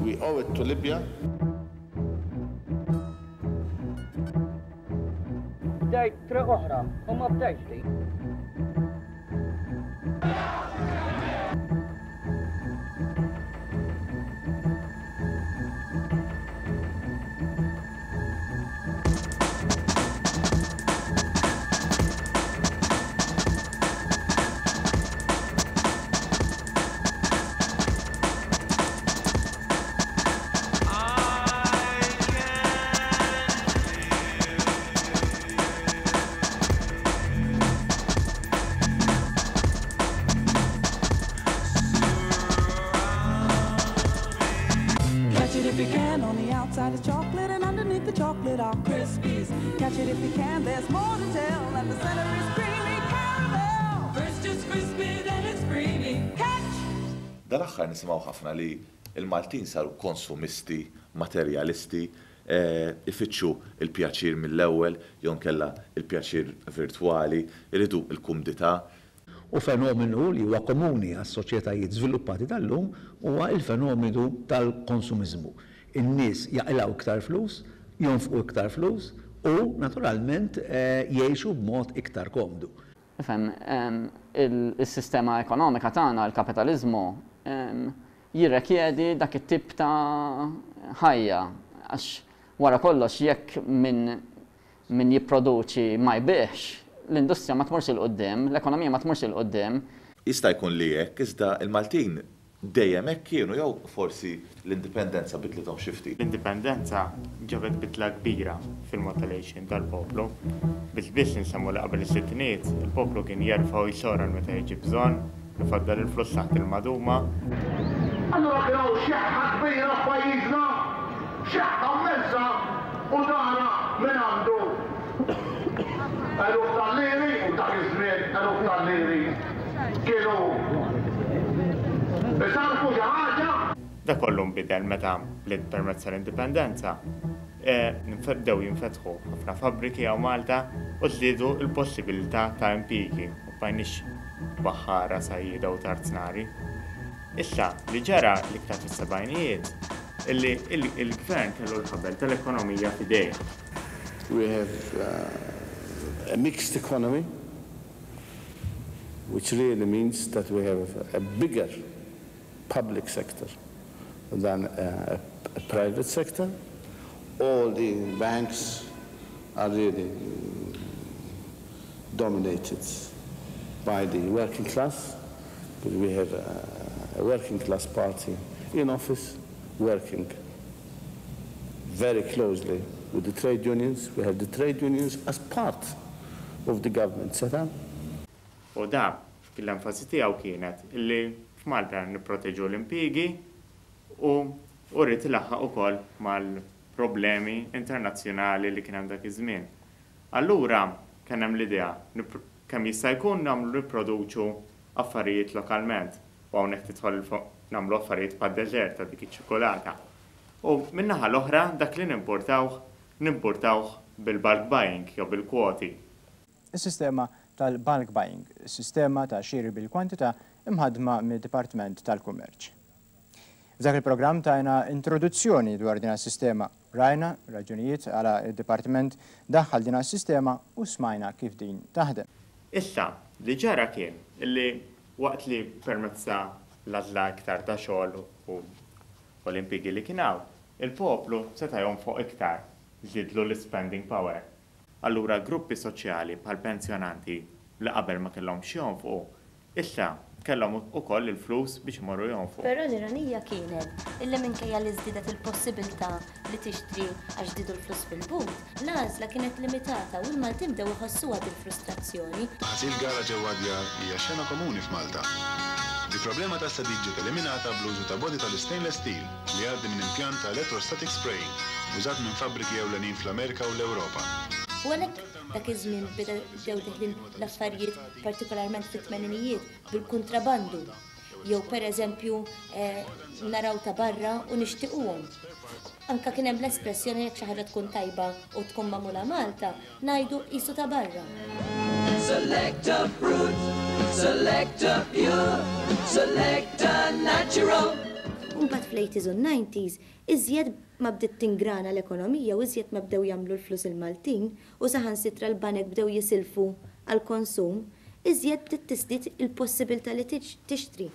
We owe it to Libya. Bdejt triq oħra u ma bdejtx din. Catch it if you can, on the outside is chocolate and underneath the chocolate are Krispies. Catch it if you can, there's more to tell, and the center is creamy caramel. First it's crispy, then it's creamy. Catch! Dal-aħħar nisimgħu ħafna li l-Maltin saru konsumisti, materjalisti, ifittxu l-pjaċir mill-ewwel jew inkella l-pjaċir virtwali, iridu l-kumdità. U fenomenu li huwa komuni għas-soċjetajiet żviluppati tal-lum huwa l-fenomenu tal-konsumiżmu. In-nies jaqilgħu iktar flus, jonfqu iktar flus u, naturalment, jgħixu b'mod iktar komdu. Ifhem, is-sistema ekonomika tagħna, il-kapitaliżmu, jirrekjedi dak it-tip ta' ħajja għax wara kollox jekk min min jipproduċi ma jbigħx, l-industrija ma tmurx 'il quddiem, l-ekonomija ma tmurx 'il quddiem. Jista' jkun li hekk, iżda l-Maltin dejjem hekk kienu jew forsi l-Indipendenza bidlithom xi ftit? L-Indipendenza ġabet bidla kbira fil-mod tal-għixien tal-poplu. Biss biss insemmu li qabel is-sittinijiet, il-poplu kien jerfa' u jsor għal meta jiġi bżonn, Ifaddal il-flus taħt il-maduma. Allura kien hawn xeħħa kbira f'pajjiżna, xeħħa mmensa u tara min għandu eluf tal-liri u dak iż-żmien eluf tal-liri kienu isarrfu xi ħaġa. Dak kollu nbidel meta permezz tal-Indipendenza bdew jinfetħu ħafna fabbriki hawn Malta u żdiedu l-possibilità ta' impjiegi, ma bqajniex baħħara, sajjieda u tarznari. Issa, li ġara l-iktar fis-sebgħinijiet, illi l-Gvern kellu l-ħabel tal-ekonomija f'idejh. We have a mixed economy, which really means that we have a bigger public sector than a private sector. All the banks are really dominated by the working class. We have a, a working class party in office working very closely with the trade unions. We have the trade unions as part of the government setup. U da, l-enfasi tiegħu kienet li f'Malta nipproteġu l-impjiegi u u ried ilaħħaq ukoll mal-problemi internazzjonali li kien hemm dak iż-żmien. Allura kien hemm l-idea kemm jista' jkun nagħmlu nipproduċu affarijiet lokalment u hawnhekk tidħol nagħmlu affarijiet bħad-deżert ta' dik iċ-ċikkulata. U min-naħa l-oħra dak li nimpurtawh nimpurtawh bil-bulk buying jew bil-kwoti. Is-sistema tal-bulk buying, sistema ta' xiri bil-kwantità imħaddma mid-Dipartiment tal-Kummerċ. F'dak il-programm tajna introduzzjoni dwar din is-sistema, rajna raġunijiet għala d-Dipartiment daħħal din is-sistema u smajna kif din taħdem. Issa, li ġara kien li waqt li permezz ta' l-għażla iktar ta' xogħol u u l-impjiegi li kien hawn, il-poplu seta' jonfoq iktar, żiedlu l-ispending power. Allura gruppi soċjali bħall-pensjonanti li qabel ma kellhomx jonfqu, issa kellhom ukoll il-flus biex imorru jonfqu. Però l-ironija kienet illi minkejja li żdiedet il-possibiltà li tixtri għax żdiedu l-flus fil-but, l-għażla kienet limitata u l-Maltin bdew iħossuha dil-frustrazzjoni. Ħasil gara ġewwa d-djar hija xena komuni f'Malta. Il-problema tas-sadid ġiet eliminata bl-użu ta' body tal-istainless steel li jgħaddi minn impjant ta' electrostatic spraying użat minn fabbriki ewlenin fl-Amerika u l-Ewropa. U għalhekk dak iż-żmien beda bdew deħlin l-affarijiet partikolarment fit-tmeninijiet bil-kuntrabandu jew per eżempju naraw ta' barra u nixtiquhom. Anka kien hemm l-espressjoni jekk xi ħaġa tkun tajba u tkun magħmula Malta, ngħidu qisu ta' barra. Select a fruit. Selecta Pure, Selecta Natural. U mbagħad fl-80s u n-90s iżjed ma bdiet tingrana l-ekonomija u iżjed ma bdew jagħmlu l-flus il-Maltin u saħansitra l-banek bdew jisilfu għall-konsum, iżjed bdiet tiżdied il-possibilità li tixtri.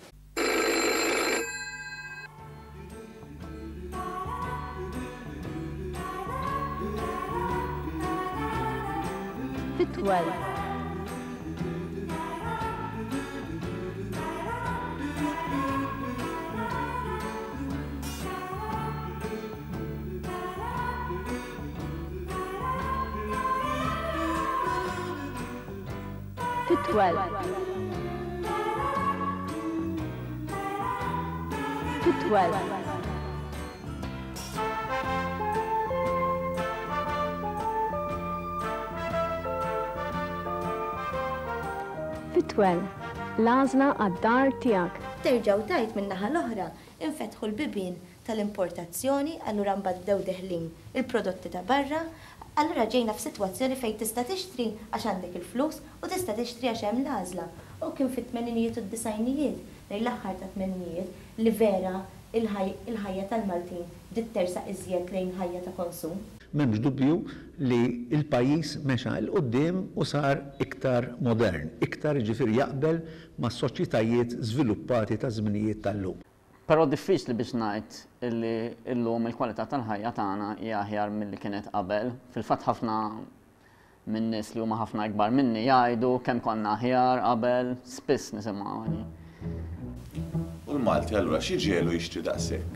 Fitwell. Fitwell. Fitwell. Fitwell, l-għażla għad-dar tiegħek. Terġa' u tgħid min-naħa l-oħra, infetħu l-bibien tal-importazzjoni, allura mbagħad bdew deħlin il-prodotti ta' barra, allura ġejna f'sitwazzjoni fejn tista' tixtri għax għandek il-flus u tista' tixtri għax hemm l-għażla. U kien fit-tmeninijiet u d-disgħinijiet, lejn l-aħħar tat-tmeninijiet, li vera il-ħajja tal-Maltin bdiet tersaq iżjed lejn ħajja ta' konsum. M'hemmx dubju li l-pajjiż mexa 'l quddiem u sar iktar modern, iktar jiġifieri jaqbel mas-soċjetajiet żviluppati taż-żminijiet tal-lum. Però diffiċli biex ngħid illi llum il-kwalità tal-ħajja tagħna hija aħjar milli kienet qabel. Fil-fatt ħafna minn nies li huma ħafna ikbar minni jgħidu kemm konna aħjar qabel, spiss nisimgħuha din. U l-Malti allura xi ġiegħlu jixtri daqshekk?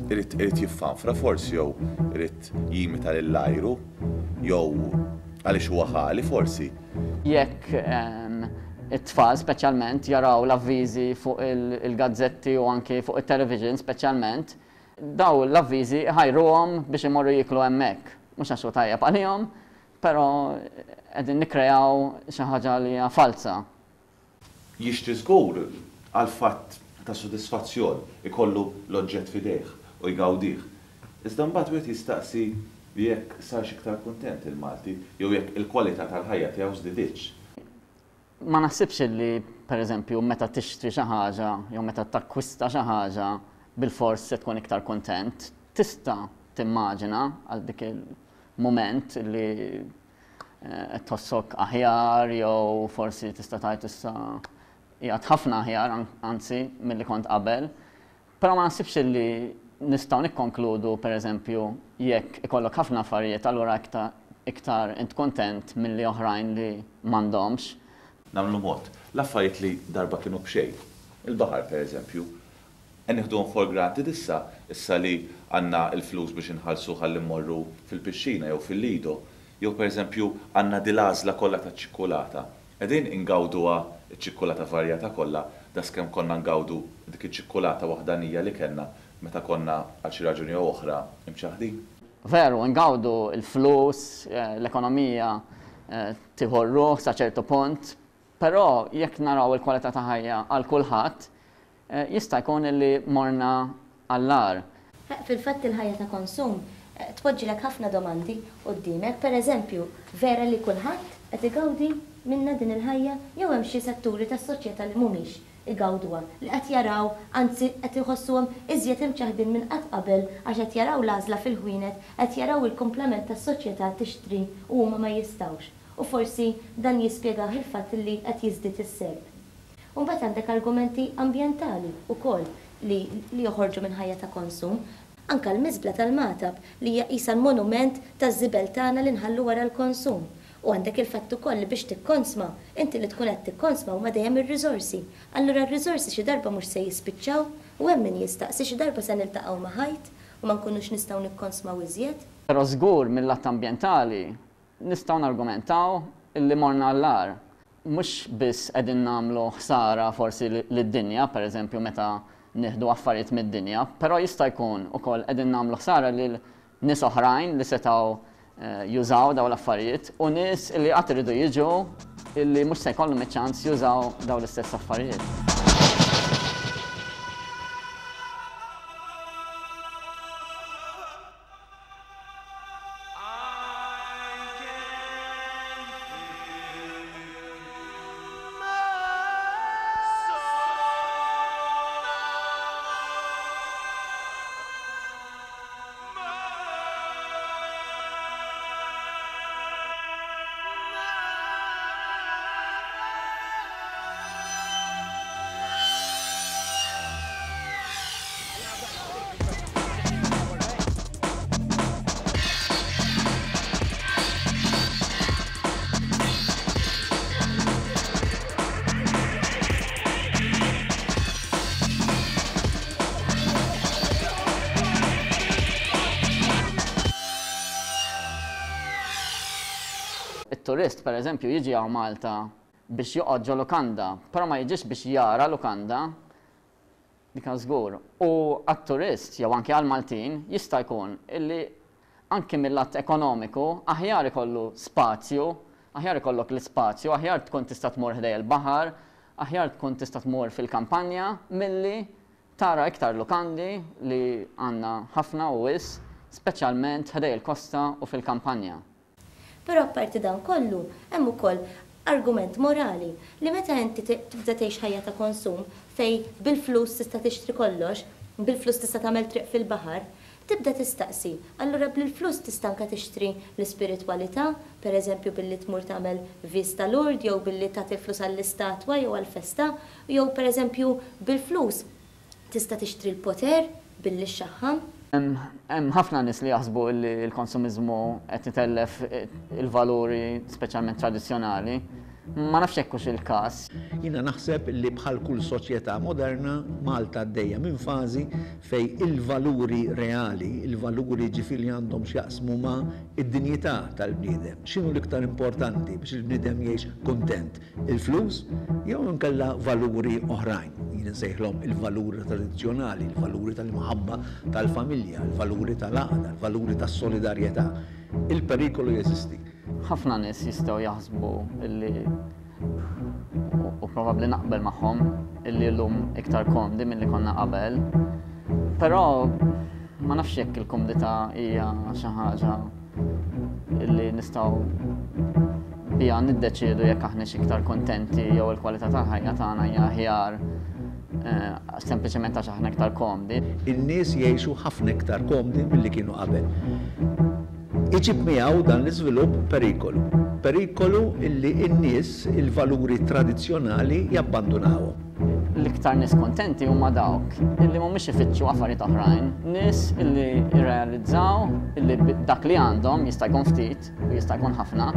Irid irid jiffanfra forsi jew irid jimita lill-ajru jew għaliex huwa ħali forsi? Jekk it-tfal speċjalment jaraw l-avviżi fuq il-gazzetti u anki fuq it-television speċjalment, dawn l-avviżi iħajruhom biex imorru jieklu hemmhekk. Mhux għax hu tajjeb għalihom, però qegħdin nikkreaw xi ħaġa li hija falza. Jixtri żgur għall-fatt ta' sodisfazzjon, ikollu l-oġġett f'idejh u jgawdih. Iżda mbagħad wieħed jistaqsi jekk sarx iktar kuntent il-Malti jew jekk il-kwalità tal-ħajja tiegħu żdiditx. Ma naħsibx li, per eżempju, meta tixtri xi ħaġa jew meta takkwista xi ħaġa bilfors se tkun iktar kuntent. Tista' timmaġina għal dik il-mument li qed tħossok aħjar jew forsi tista' tgħid issa qiegħed ħafna aħjar anzi milli kont qabel. Però ma naħsibx li nistgħu nikkonkludu pereżempju jekk ikollok ħafna affarijiet allura iktar int kuntent milli oħrajn li m'għandhomx. Nagħmlu mod. L-affarijiet li darba kienu b'xejn. Il-baħar pereżempju. Qed nieħduhom for granted issa, issa li għandna l-flus biex inħallsu ħalli mmorru fil-pixxina jew fil-lido, jew pereżempju għandna dil-għażla kollha taċ-ċikkulata. Qegħdin ingawduha ċ-ċikkulata varjata kollha daqskemm konna ngawdu dik iċ-ċikkulata waħdanija li kellna meta konna għal xi raġuni jew oħra imċaħħdin? Veru, ingawdu l-flus, l-ekonomija tieħu r-ruħ sa ċertu punt, però jekk naraw il-kwalità ta' ħajja għal kulħadd, Jista' jkun li morna għall-agħar. Fil-fatt il-ħajja ta' konsum tpoġġilek ħafna domandi quddiemek, per eżempju, vera li kulħadd qed igawdi minnha din il-ħajja jew hemm xi setturi tas-soċjetà li mhumiex igawduha, li qed jaraw, anzi qed iħossuhom iżjed imċaħħdin minn qatt qabel għax qed jaraw l-għażla fil-ħwienet, qed jaraw il-kumplament tas-soċjetà tixtri u huma ma jistgħux. U forsi dan jispjegah il-fatt li qed jiżdied is-serq. U mbagħad għandek argumenti ambjentali wkoll li li joħorġu minn ħajja ta' konsum. Anke l-miżbla tal-Magħtab li hija qisha l-monument taż-żibel tagħna li nħallu wara l-konsum. U għandek il-fatt ukoll li biex tikkonsma, inti li tkun qed tikkonsma huma dejjem ir-riżorsi. Allura r-riżorsi xi darba mhux se jispiċċaw? U hemm min jistaqsi xi darba se niltaqgħu ma' ħajt u ma nkunux nistgħu nikkonsmaw iżjed? Però żgur mill-att ambjentali nistgħu nargumentaw illi morna għall-agħar. Mhux biss qegħdin nagħmlu ħsara forsi lid-dinja, per eżempju meta nieħdu affarijiet mid-dinja, però jista' jkun ukoll qegħdin nagħmlu ħsara lil nies oħrajn li setgħu jużaw dawn l-affarijiet u nies li qatt iridu jiġu illi mhux se jkollhom iċ-ċans jużaw dawn l-istess affarijiet. It-turist, pereżempju, jiġi hawn Malta biex joqgħod ġo lukanda, però ma jiġix biex jara lukanda, dik żgur. U għat-turist jew anke għall-Maltin jista' jkun illi anke mill-att ekonomiku aħjar ikollu spazju, aħjar ikollok l-ispazju, aħjar tkun tista' tmur ħdej il-baħar, aħjar tkun tista' tmur fil-kampanja milli tara iktar lukandi li għandna ħafna u wisq, speċjalment ħdej il-kosta u fil-kampanja. Però apparti dan kollu, hemm ukoll argument morali li meta inti tibda tgħix ħajja ta' konsum fejn bil-flus tista' tixtri kollox, bil-flus tista' tagħmel triq fil-baħar, tibda tistaqsi, allura bl-flus tista' anke tixtri l-ispiritwalità, per eżempju billi tmur tagħmel viżta Lourdes jew billi tagħti l-flus għall-istatwa jew għall-festa, jew per eżempju bil-flus Tista' tixtri l-poter billi xxaħħam? Hemm ħafna nies li jaħsbu li l-konsumiżmu qed itellef il-valuri speċjalment tradizzjonali. Ma nafx jekk hux il-każ. Jiena naħseb li bħal kull soċjetà moderna, Malta għaddejja minn fażi fejn il-valuri reali, il-valuri jiġifieri li għandhom x'jaqsmu ma' id-dinjità tal-bniedem, x'inhu l-iktar importanti biex il-bniedem jgħix kuntent, Il-flus jew inkella valuri oħrajn, jien insejħilhom il-valuri tradizzjonali, il-valuri tal-imħabba tal-familja, il-valuri tal-għaqda, il-valuri tas-solidarjetà. Il-perikolu jeżisti. Ħafna nies jistgħu jaħsbu li u probabbli naqbel magħhom illi llum iktar komdi milli konna qabel. Però ma nafx jekk il-kumdità hija xi ħaġa illi nistgħu biha niddeċiedu jekk aħniex iktar kuntenti jew il-kwalità tal-ħajja tagħna hija aħjar eh, sempliċement għax aħna iktar komdi. In-nies jgħixu ħafna iktar komdi milli kienu qabel. Iġib miegħu dan l-iżvilupp perikolu. Perikolu illi n-nies il-valuri tradizzjonali jabbandunawhom. L-iktar nies kuntenti huma dawk illi mhumiex ifittxu affarijiet oħrajn, nies illi rrealizzaw illi dak li għandhom jista' jkun ftit u jista' jkun ħafna,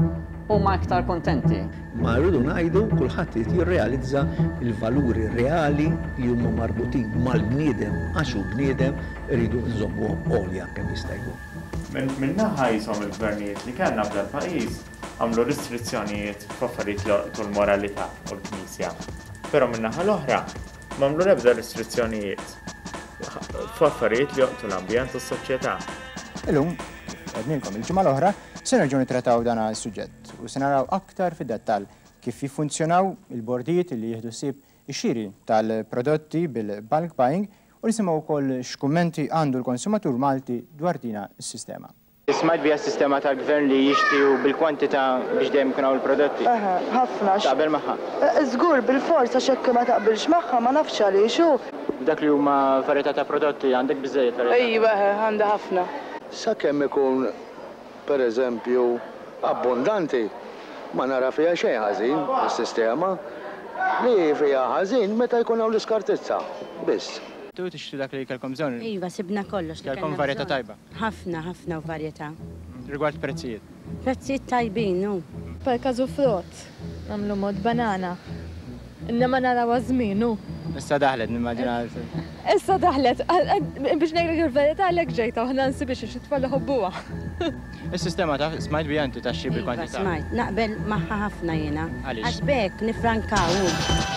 huma iktar kuntenti. Ma rridu ngħidu kulħadd irid jirrealizza l-valuri reali li huma marbutin mal-bniedem għax hu bniedem irridu nżommuhom għolja kemm jista' jkun. Minn naħa qishom il-gvernijiet li kellna f'dal-pajjiż għamlu restrizzjonijiet f'affarijiet li jolqtu l-moralità u l-Knisja. Però min-naħa l-oħra m'għamlu l-ebda restrizzjonijiet f'affarijiet li jolqtu l-ambjent u s-soċjetà. Illum, kif għednilkom il-ġimgħa l-oħra, se nerġgħu nittrattaw dan is-suġġett u se naraw aktar fid-dettall kif jiffunzjonaw il-bordijiet li jieħdu ħsieb ix-xiri tal-prodotti bil-bulk buying u nisimgħu wkoll x'kummenti għandu l-konsumatur Malti dwar dina s-sistema. Smajt biha s-sistema tal-Gvern li jixtri u bil-kwantità biex dejjem ikun hawn il-prodotti? Eħe, ħafna għax. Taqbel magħha? Żgur, bilfors għax jekk ma taqbilx magħha ma nafx għaliex hu. F'dak li huma varjetà ta' prodotti, għandek biżżejjed varjetà? Iva, eħe, għandi ħafna. Sakemm ikun, per eżempju, abbundanti, ma nara fiha xejn ħażin is-sistema. Li fiha ħażin meta jkun hawn l-iskartizza biss. Tu tixtri dak li kellkom bżonn? Iva, sibna kollox li kellna bżonn. Kellkom varjetà tajba? Ħafna, ħafna u varjetà. Rigward prezzijiet? Prezzijiet tajbin, hu. Per każu frott, nagħmlu mod banana. Innama narawha żmien, hu. Issa daħlet, nimmaġina. Issa daħlet, biex ngħidlek il-verità għalhekk ġejt hawn ħa nsibhiex għax it-tfal iħobbuha. Is-sistema taf, smajt biha inti tax-xiri bil-kwantità? Iva smajt, naqbel magħha ħafna jiena. Għaliex? Għax b'hekk nifrankaw, hu.